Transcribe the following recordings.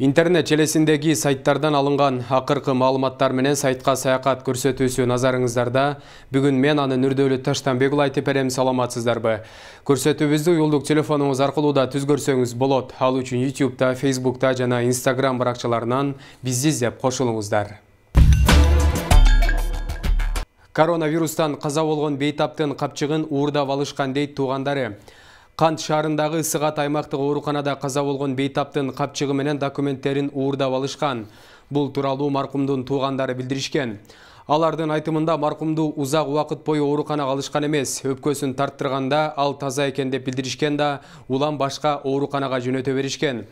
Интернет желесиндеги сайттардан алынган акыркы маалыматтар менен сайтка саякат көрсөтүүсү назарыңыздарда. Бүгүн мен аны Нурдөлүт Таштанбекұлы айтып берем, саламатсыздарбы? Көрсөтүүбүздү уюлдук телефонуңуз аркылуу да түзгөрсөңүз болот. Ал үчүн YouTube'да, Facebook'та жана Instagram баракчаларынан бизди издеп кошулуңуздар. Коронавирустан каза болгон бейтаптын капчыгын уурдап алышкан дейт туугандары. Кант шаарындагы Сыгат аймактык ооруканада каза болгон бейтаптын капчыгы менен документтерин уурдап алышкан. Бул тууралуу маркумдун туугандары билдиришкен. Алардын айтымында маркумду узак убакыт бою ооруканага алышкан эмес, өпкөсүн тарттырганда ал таза экен деп билдиришкен да, улам башка ооруканага жөнөтө беришкен.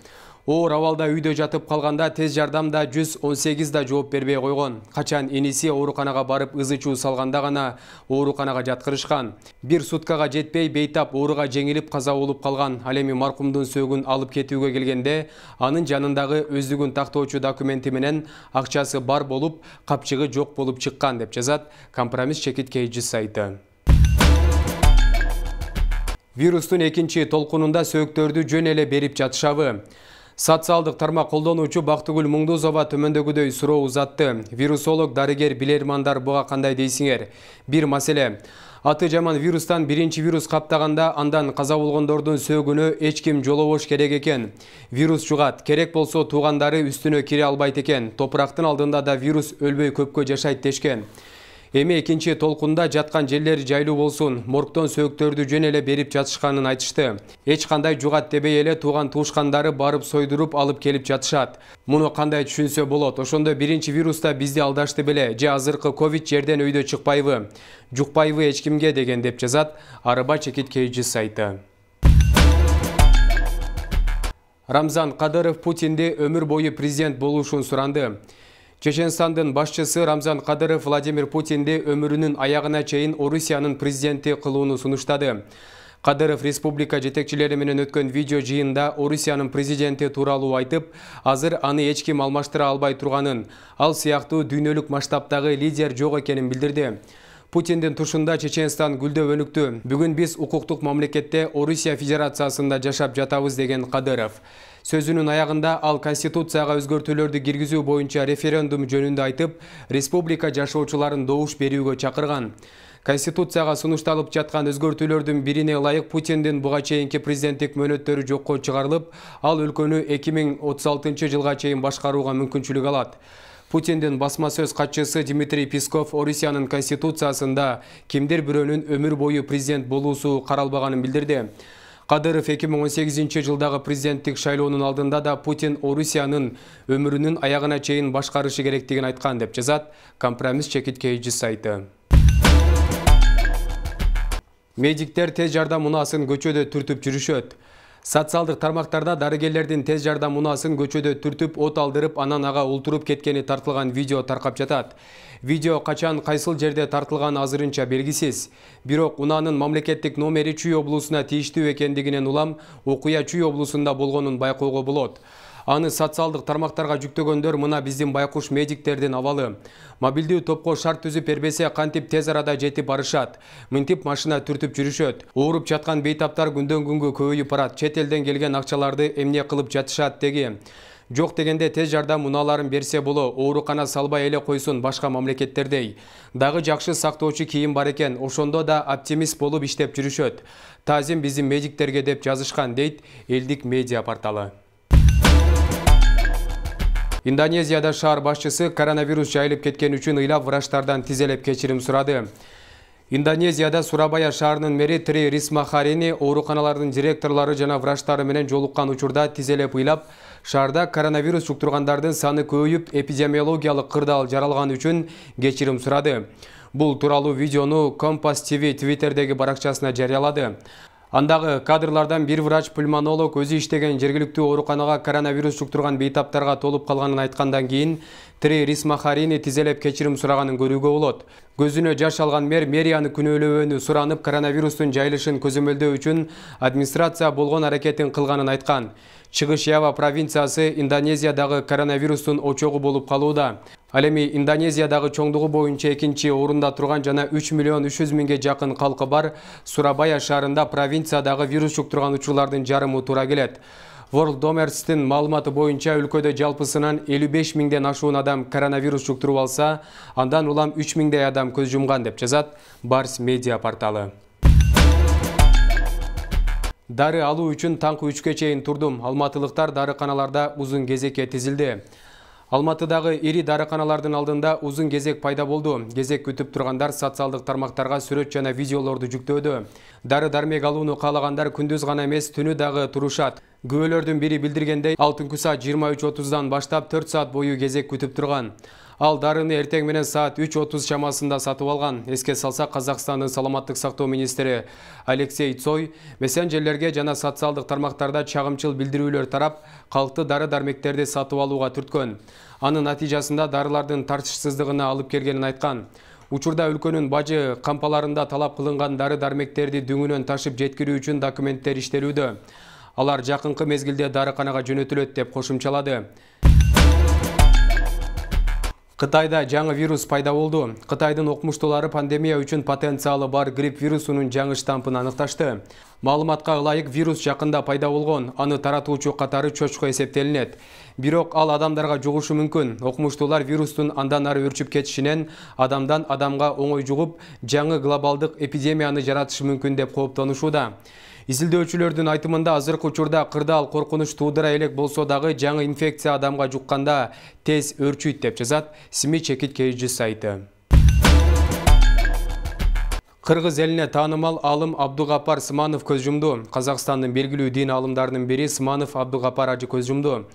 Оор абалда үйдө жатып калганда тез жардамда 118 да жооп бербей койгон. Качан эниси ооруканага барып ызы чуу салганда гана ооруканага жаткырышкан. Бир суткага жетпей бейтап ооруга жеңилип каза болуп калган. Ал эми маркумдун сөөгүн алып кетүүгө келгенде анын жанындагы өздүгүн тактоочу документи менен акчасы бар болуп, капчыгы жок болуп чыккан деп жазат Компромисс Чекит KG сайты. Вирустун экинчи толкунунда сөөктөрдү жөн эле берип жатышабы? Социалдык тармак колдонуучу Бактыгүл Муңдузова төмөндөгүдөй суроо узатты. Вирусолог, дарыгер, билермандар буга кандай дейсиңер? Бир маселе. Аты жаман вирустан биринчи вирус каптаганда андан каза болгондордун сөөгүнө эч ким жолобош керек экен. Вирус жугат, керек болсо туугандары үстүнө кире албайт экен. Топурактын алдында да вирус өлбөй көпкө жашайт дешкен. Эми экинчи толкунда жаткан жерлер жайлуу болсун, моргтон сөөктөрдү жөн эле берип жатышканын айтышты. Эч кандай жугат дебей эле тууган туушкандары барып сойдуруп алып келип жатышат. Муну кандай түшүнсө болот? Ошондо биринчи вируста бизди алдашты беле? Же азыркы ковид жерден өйдө чыкпайбы? Жукпайбы эч кимге деген деп жазат Арыба Чекит KG сайты. Рамзан Кадыров Путинди өмүр бою президент болушун суранды. Чеченстандын башчысы Рамзан Кадыров Владимир Путинди өмүрүнүн аягына чейин Орусиянын президенти кылууну сунуштады. Кадыров республика жетекчилери менен өткөн видео жыйында Орусиянын президенти тууралуу айтып, азыр аны эч ким алмаштыра албай турганын, ал сыяктуу дүйнөлүк масштабтагы лидер жок экенин билдирди. Путиндин тушунда Чеченстан гүлдөп өнүктү. Бүгүн биз укуктук мамлекетте Орусия Федерациясында жашап жатабыз деген Кадыров. Сөзүнүн аягында ал Конституцияга өзгөртүүлөрдү киргизүү боюнча референдум жөнүндө айтып, республика жашоочуларын добуш берүүгө чакырган. Конституцияга сунушталып жаткан өзгөртүүлөрдүн бирине ылайык Путиндин буга чейинки президенттик мөөнөттөрү жокко чыгарылып, ал өлкөнү 2036 жылга чейин башкарууга мүмкүнчүлүк алат. Путиндин басма сөз катчысы Дмитрий Песков Орусиянын конституциясында кимдир бирөөнүн өмүр бою президент болуусу каралбаганын билдирди. Кадыров 2018 жылдагы президенттик шайлоонун алдында да Путин Орусиянын өмүрүнүн аягына чейин башкарышы керектигин айткан деп жазат Компромисс Чекит KG сайты. Медиктер тез жардам унаасын көчөдө түртүп жүрүшөт. Социалдык тармактарда дарыгерлердин тез жардам унаасын көчөдө түртүп, от алдырып, анан ага ултуруп кеткени тартылган видео таркап жатат. Видео качан кайсыл жерде тартылганы азырынча белгисиз. Бирок унаанын мамлекеттик номери Чүй облусуна тийиштүү экендигинен улам окуя Чүй облусунда болгонун байкоого болот. Аны социалдык тармактарга жүктөгөндөр мына биздин байкуш медиктердин абалы. Мобилдүү топко шарт түзүп бербесе кантип тез арада жетип барышат. Мынтип машина түртүп жүрүшөт. Ооруп жаткан бейтаптар күндөн күнгө көбөйүп барат. Чет элден келген акчаларды эмне кылып жатышат деги. Жок дегенде тез жардам унааларын берсе боло, оорукана салбай эле койсун башка мамлекеттердей. Дагы жакшы сактоочу кийим бар экен, ошондо да оптимист болуп иштеп жүрүшөт. Таазим биздин медиктерге деп жазышкан дейт элдик медиа порталы. Индонезияда шаар башчысы коронавирус жайылып кеткен үчүн ыйлап врачтардан тизелеп кечирим сурады. Индонезияда Сурабая шаарынын мэри Три Рисмахарини ооруканалардын директорлору жана врачтары менен жолуккан учурда тизелеп ыйлап, шаарда коронавирус жуктургандардын саны көбөйүп, эпидемиологиялык кырдаал жаралган үчүн кечирим сурады. Бул тууралуу видеону Компас ТВ Твиттердеги баракчасына жарыялады. Андагы кадрлардан бир врач-пульмонолог өзү иштеген жергиликтүү ооруканага коронавирус жуктурган бейтаптарга толуп калганын айткандан кийин Три Рисмахарини тизелеп кечирим сураганын көрүүгө болот. Көзүнө жаш алган мэрияны күнөөлөөнү суранып, коронавирустун жайылышын көзөмөлдөө үчүн администрация болгон аракетин кылганын айткан. Чыгыш Ява провинциясы Индонезиядагы коронавирустун очогу болуп калууда. Ал эми Индонезиядагы чоңдугу боюнча экинчи орунда турган жана 3 миллион 300 миңге жакын калкы бар Сурабая шаарында провинциядагы вирус жуктурган учурлардын жарымы туура келет. Worldomers'тин маалыматы боюнча өлкөдө жалпысынан 55 миңден ашуун адам коронавирус жуктуруп алса, андан улам 3 миңдей адам көз жумган деп жазат Барс медиа порталы. Дары алуу үчүн таңкы 3-кө чейин турдум. Алматылыктар дарыканаларда узун кезекке тизилди. Алматыдагы ири дарыканалардын алдында узун кезек пайда болду. Кезек күтүп тургандар социалдык тармактарга сүрөт жана видеолорду жүктөөдө. Дары-дармек алууну каалагандар күндүз гана эмес, түнү дагы турушат. Күбөлөрдүн бири билдиргендей, ал түнкү саат 23:30дан баштап 4 саат бою кезек күтүп турган. Ал дарыны эртең менен саат 3:30 чамасында сатып алган. Эске салсак, Казакстандын саламаттык сактоо министри Алексей Цой мессенджерлерге жана социалдык тармактарда чагымчыл билдирүүлөр тарап, калкты дары-дармектерди сатып алууга түрткөн. Анын натыйжасында дарылардын тартышсыздыгына алып келгенин айткан. Учурда өлкөнүн бажы кампаларында талап кылынган дары-дармектерди дүңүнөн ташып жеткирүү үчүн документтер иштелүүдө. Алар жакынкы мезгилде дарыканага жөнөтүлөт деп кошумчалады. Кытайда жаңы вирус пайда болду. Кытайдын окумуштуулары пандемия үчүн потенциалы бар грипп вирусунун жаңы штампын аныкташты. Маалыматка ылайык, вирус жакында пайда болгон. Аны таратуучу катары чочко эсептелинет. Бирок ал адамдарга жугушу мүмкүн. Окумуштуулар вирустун андан ары өрчүп кетишинен адамдан адамга оңой жугуп, жаңы глобалдык эпидемияны жаратышы мүмкүн деп кооптонушууда. Изилдөөчүлөрдүн айтымында азыркы учурда кырдаал коркунуч туудура элек болсо дагы жаңы инфекция адамга жукканда тез өрчүйт деп жазат СМИ чекит KG сайты. Кыргыз элине таанымал алым Абдугапар Сманов көз жумду. Казакстандын белгилүү дин алымдарынын бири Сманов Абдугапар ажы көз жумду.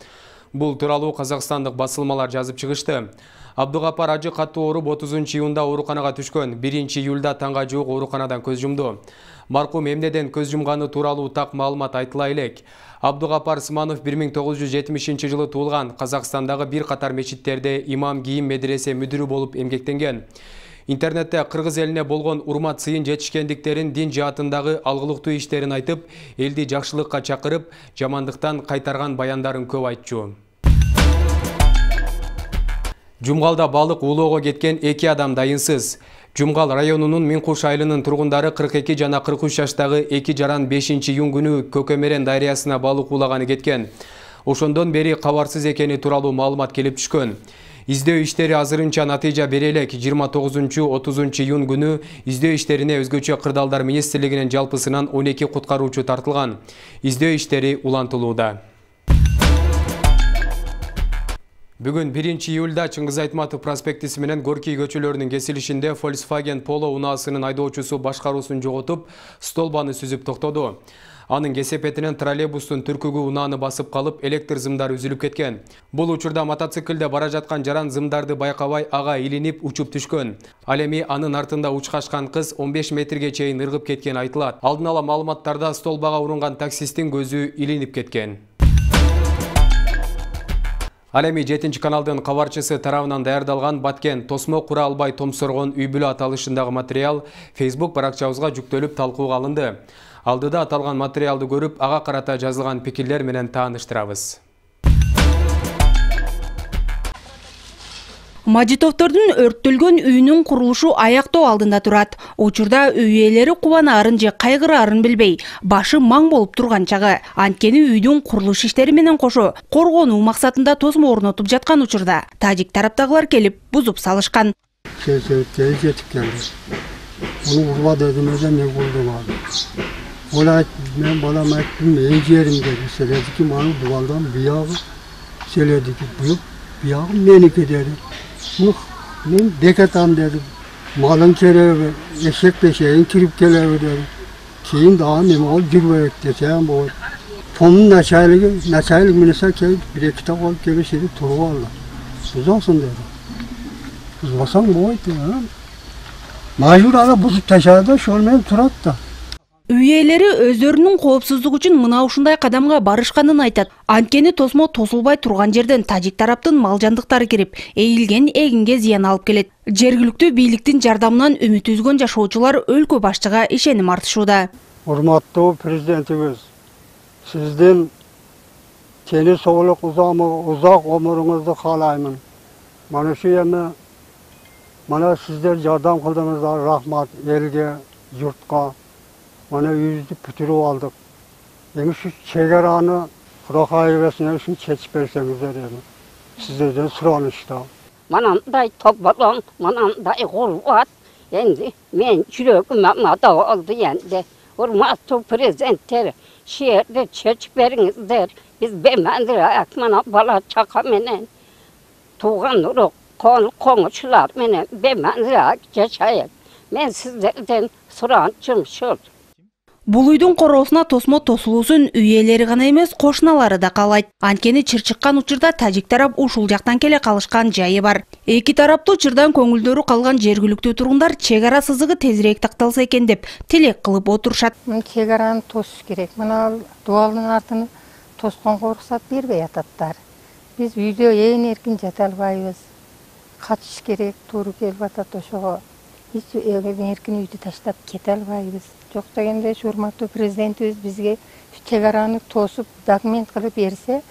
Бул тууралуу казакстандык басылмалар жазып чыгышты. Абдугапар ажы катуу ооруп 30 июнда ооруканага түшкөн. 1 июлда таңга жуук ооруканадан көз жумду. Маркум эмнеден көз жумганы тууралуу так маалымат айтыла элек. Абдугапар Сманов 1970 жылы туулган. Казакстандагы бир катар мечиттерде имам кийим медресе мүдүрү болуп эмгектенген. Интернетте кыргыз элине болгон урмат сыйын жетишкендиктерин, дин жаатындагы алгылыктуу иштерин айтып, элди жакшылыкка чакырып, жамандыктан кайтарган баяндарын көп айтчу. Жумгалда балык уулоого кеткен 2 адам дайынсыз. Жумгал районунун Минкуш айылынын тургундары 42 жана 43 жаштагы 2 жаран 5-июнь күнү Көкөмерен дарыясына балык уулаганы кеткен. Ошондон бери кабарсыз экени тууралуу маалымат келип түшкөн. Издөө иштери азырынча натыйжа бере элек. 29-30 июнь күнү издөө иштерине өзгөчө кырдаалдар министрлигинин жалпысынан 12 куткаруучу тартылган. Издөө иштери улантылууда. Бүгүн 1 июлда Чыңгыз Айтматов проспектиси менен Горький көчөлөрүнүн кесилишинде Volkswagen Polo унаасынын айдоочусу башкаруусун жоготуп, столбаны сүзүп токтоду. Анын кесепетинен троллейбустун түркүгү унааны басып калып, электр зымдары үзүлүп кеткен. Бул учурда мотоциклде бара жаткан жаран зымдарды байкабай ага илинип учуп түшкөн. Ал эми анын артында учкашкан кыз 15 метрге чейин ыргып кеткен айтылат. Алдын ала маалыматтарда столбага урунган таксисттин көзү илинип кеткен. Ал эми 7-каналдын кабарчысы тарабынан даярдалган Баткен тосмо кура албай томсоргон үй бүлө аталышындагы материал Facebook баракчабызга жүктөлүп талкууга алынды. Алдыда аталган материалды көрүп, ага карата жазылган пикирлер менен тааныштырабыз. Мажитовдордун өрттөлгөн үйүнүн курулушу аяктоо алдында турат. Учурда үй ээлери кубанаарын же кайгыраарын билбей, башы маң болуп турган чагы. Анткени үйдүн курулуш иштери менен кошо коргонуу максатында тосмо орнотуп жаткан учурда тажик тараптагылар келип бузуп салышкан. Onu kurba dediğimizde ne buldum abi. Ola ben bana mettim encerim dedi. Söyledi ki bana duvardan bir yağı söyledi ki bir yağı menike dedi. Ben deketan dedim. Malın kerevi, eşek peşeğin kirip gelevi dedi. Keyin daha ne mal girmeyek desem bu. Fonun neçaylık minese ki bir iki kitap alıp gelişleri turu varlar. Uzansın dedi. Uzmasan bu oydu ya. Majbur ala buzuk taşarda şolmen turat da. Үй ээлери өздөрүнүн коопсуздугу үчүн мына ушундай кадамга барышканын айтат. Анткени тосмо тосулбай турган жерден тажик тараптын малжандыктары кирип, эйилген эгинге зыян алып келет. Жергиликтүү бийликтин жардамынан үмүт үзгөн жашоочулар өлкө башчыга ишеним артышууда. Урматтуу президентибиз, сиздин тени соолук узак өмүрүңүздү каалаймын. Мана şu эми mana sizler yardım kıldığınızda rahmat elge, yurtka, mana yüzü pütürüp aldık. Yani şu çegeranı Kurak ayırasına üçün çeçip verseniz edelim. Sizlerden suranışta. Manamday topladım, manamday kurvat. Endi men yüreğime da oldu endi. Hurmatlı prezidentler, şehirde çeçip veringizler. Biz bemendirak mana bala çaka menen. Tuğan uruk, konuşular menen bemendirak yaşayıp. Men sizlerden surançım şul. Бул үйдүн короосуна тосмо тосулуусун үй ээлери гана эмес, кошуналары да каалайт. Анткени чыр чыккан учурда тажик тарап ушул жактан келе калышкан жайы бар. Эки тараптуу чырдан көңүлдөрү калган жергиликтүү тургундар чек ара сызыгы тезирээк такталса экен деп тилек кылып отурушат. Чек араны тосуш керек. Мына дубалдын артын тосконго уруксат бербей ататтар. Биз үйдө ээн эркин жата албайбыз. Качыш керек, туура келип атат ошого. Hiç erkin үйдү таштап кете албайбыз. Жок дегенде урматтуу президентибиз бизге чек араны тосуп документ кылып берсе.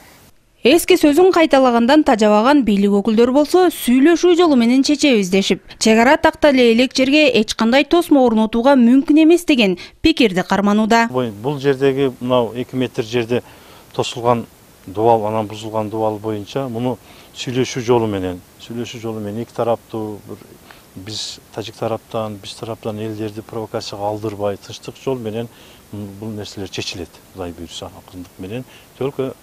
Эски сөзүн кайталагандан тажабаган бийлик өкүлдөрү болсо сүйлөшүү жолу менен чечебиз дешип, чек ара тактале элек жерге эч кандай тосмо орнотууга мүмкүн эмес деген пикирди карманууда. Бул жердеги мына 2 метр жерде тосулган дубал, анан бузулган дубал боюнча муну сүйлөшүү жолу менен эки тараптуу биз тажик тараптан, биз тараптан элдерди провокацияга алдырбай, тынчтык жол менен бул нерселер чечилет. Кудай буйрса, акындык менен, только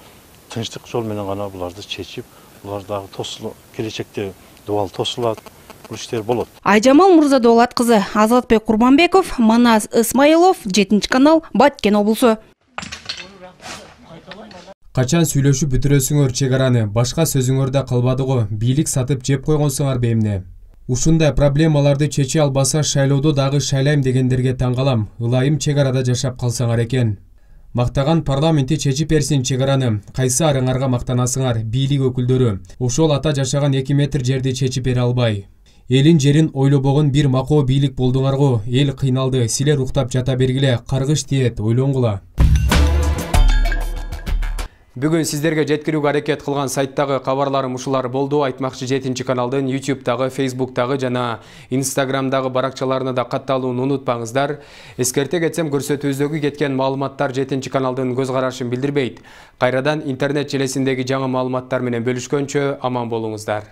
тынчтык жол менен гана буларды чечип, булар дагы тосулу келечекте дубал тосулат, бул иштер болот. Айжамал Мурзадолат кызы, Азатбек Курманбеков, Манас Исмаилов, 7-канал, Баткен облусу. Качан сүйлөшүп бүтүрөсүңөр чек араны, башка сөзүңөр да калбады го, бийлик сатып жеп койгонсуңарбы эмне? Ушундай проблемаларды чече албаса шайлоодо дагы шайлайм дегендерге таң калам. Ылайым чек арада жашап калсаңар экен. Мактаган парламенти чечип берсин чек араны. Кайсы арыңарга мактанасыңар, бийлик өкүлдөрү? Ошол ата жашаган 2 метр жерди чечип бере албай. Элин жерин ойлобогон бир макоо бийлик болдуңар го. Эл кыйналды, силер уктап жата бергиле, каргыш тиет, ойлонгула. Бүгүн сиздерге жеткирүүгө аракет кылган сайттагы кабарларым ушулар болду. Айтмакчы 7-каналдын YouTube'дагы, Facebook'дагы жана Instagram'дагы баракчаларына да катталууну унутпаңыздар. Эскерте кетсем, көрсөтүүбүздөгү кеткен маалыматтар 7-каналдын көз карашын билдирбейт. Кайрадан интернет желесиндеги жаңы маалыматтар менен бөлүшкөнчө аман болуңуздар.